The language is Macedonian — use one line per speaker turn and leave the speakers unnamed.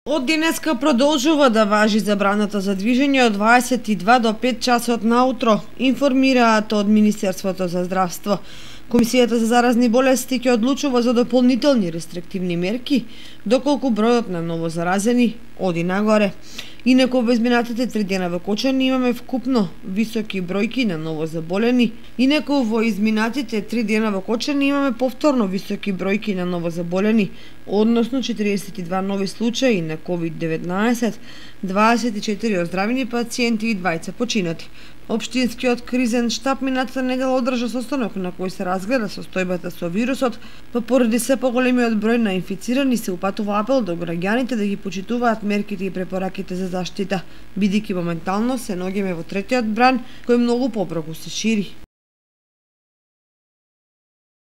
Од денеска продолжува да важи забраната за движење од 22 до 5 часот наутро, информираат од Министерството за здравство. Комисијата за заразни болести ќе одлучува за дополнителни рестриктивни мерки, доколку бројот на ново заразени оди нагоре. Инаку во изминатите 3 дена во Кочани имаме вкупно високи бројки на ново заболени. Повторно високи бројки на ново заболени, односно 42 нови случаи на COVID-19, 24 оздравени пациенти и 20 починати. Општинскиот кризен штаб минатата недела одржа состанок на кој се разгледа состојбата со вирусот, па поради се поголемиот број на инфицирани се упатува апел до граѓаните да ги почитуваат мерките и препораките за заштита, бидејќи моментално се наоѓаме во третиот бран кој многу побрзо се шири.